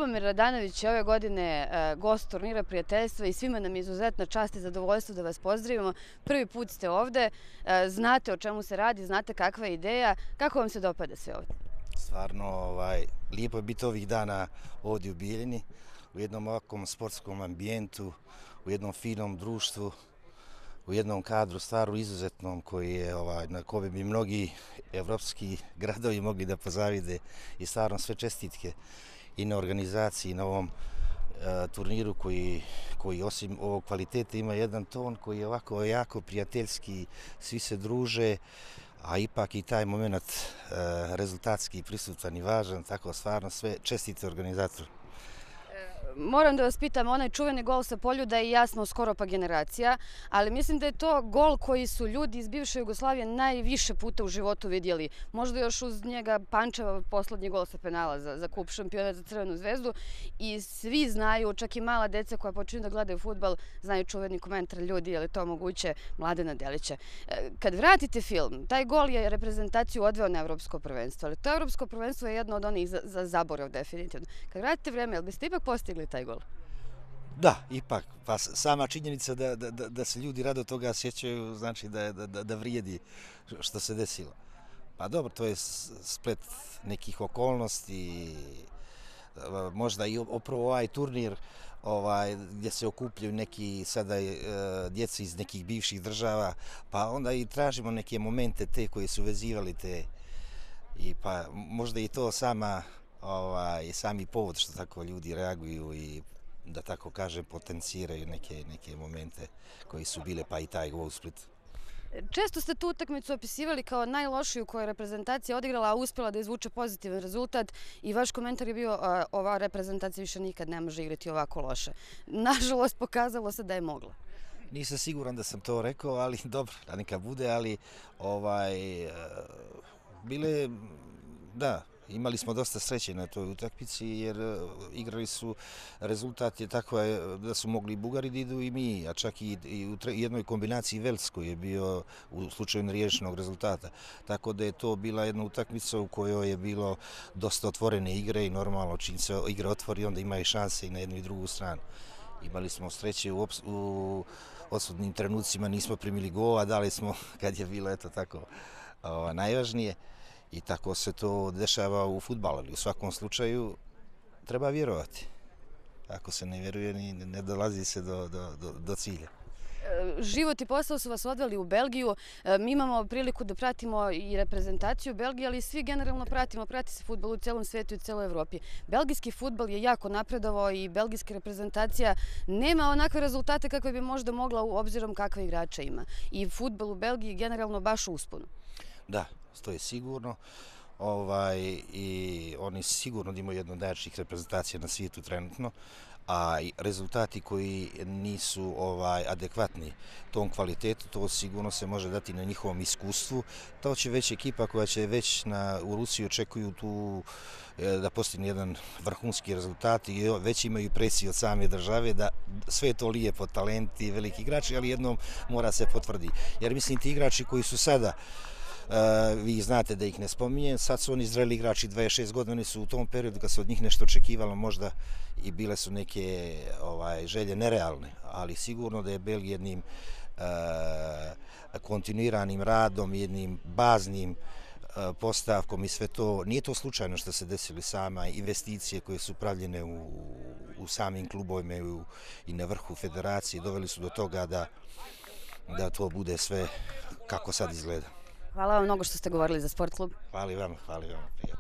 Ljubomir Radanović je ove godine gost turnira prijateljstva i svima nam je izuzetna čast i zadovoljstvo da vas pozdravimo. Prvi put ste ovde, znate o čemu se radi, znate kakva je ideja, kako vam se dopada sve ovde? Stvarno, lijepo je biti ovih dana ovdje u Bijeljini, u jednom ovakvom sportskom ambijentu, u jednom finom društvu, u jednom kadru stvaru izuzetnom na kome bi mnogi evropski gradovi mogli da pozavide i stvarno sve čestitke i na organizaciji i na ovom turniru koji osim ovog kvaliteta ima jedan ton koji je ovako jako prijateljski, svi se druže, a ipak i taj moment rezultatski prisutan i važan, tako stvarno sve čestite organizatoru. Moram da vas pitam, onaj čuveni gol sa Poljuda i ja smo skoro pa generacija, ali mislim da je to gol koji su ljudi iz bivše Jugoslavije najviše puta u životu vidjeli. Možda još uz njega Pančeva poslednji gol sa penala za kup šampiona za Crvenu zvezdu i svi znaju, čak i mala deca koja počinju da gledaju fudbal, znaju čuveni komentar ljudi, je li to moguće, Mladena Delića. Kad vratite film, taj gol je reprezentaciju odveo na Evropsko prvenstvo, ali to Evropsko prvenstvo je jedno od onih za zaborav definitivno. Kad vratite vreme, jel biste ipak postigli taj gol? Da, ipak. Pa sama činjenica da se ljudi rado toga sjećaju znači da vrijedi što se desilo. Pa dobro, to je splet nekih okolnosti, možda i upravo ovaj turnir gdje se okupljaju neki sada djeca iz nekih bivših država, pa onda i tražimo neke momente te koji su vezivali te i pa možda i to sami povod što tako ljudi reaguju i da tako kažem potenciraju neke momente koji su bile, pa i taj gol u Splitu. Često ste tu utakmicu opisivali kao najlošiju koju je reprezentacija odigrala, a uspjela da izvuče pozitivan rezultat i vaš komentar je bio ova reprezentacija više nikad ne može igrati ovako loše. Nažalost, pokazalo se da je mogla. Nisam siguran da sam to rekao, ali dobro, da neka bude, ali bile, da, imali smo dosta sreće na toj utakmici jer igrali su, rezultat je tako da su mogli i Bugari da idu i mi, a čak i u jednoj kombinaciji Velc koji je bio u slučaju neriješenog rezultata. Tako da je to bila jedna utakmica u kojoj je bilo dosta otvorene igre i normalno čim se igra otvori onda ima i šanse i na jednu i drugu stranu. Imali smo sreće u odsudnim trenucima, nismo primili gol, a dali smo kad je bilo eto tako najvažnije. I tako se to dešava u fudbalu, ali u svakom slučaju treba vjerovati. Ako se ne vjeruje, ne dolazi se do cilja. Život i posao su vas odveli u Belgiju. Mi imamo priliku da pratimo i reprezentaciju Belgije, ali svi generalno prati se fudbal u celom svijetu i u celoj Evropi. Belgijski fudbal je jako napredovao i belgijska reprezentacija nema onakve rezultate kakve bi možda mogla u obzirom kakve igrača ima. I fudbal u Belgiji generalno baš u usponu. Da, to je sigurno. I oni sigurno imaju jednu od najjačih reprezentacija na svijetu trenutno, a rezultati koji nisu adekvatni tom kvalitetu, to sigurno se može dati na njihovom iskustvu. To će već ekipa koja će već u Rusiji očekuju tu da postigne jedan vrhunski rezultat i već imaju presiju od same države da sve to lijepo, talenti, veliki igrači, ali jednom mora se potvrdi. Jer mislim ti igrači koji su sada, vi znate da ih ne spominjem, sad su oni zreli igrači 26 godina, oni su u tom periodu kad se od njih nešto očekivalo možda i bile su neke želje nerealne, ali sigurno da je Belgija jednim kontinuiranim radom, jednim baznim postavkom i sve to, nije to slučajno što se desili sama investicije koje su pravljene u samim klubovima i na vrhu federacije, doveli su do toga da to bude sve kako sad izgleda. Hvala vam mnogo što ste govorili za Sport klub. Hvala vam, prijatno.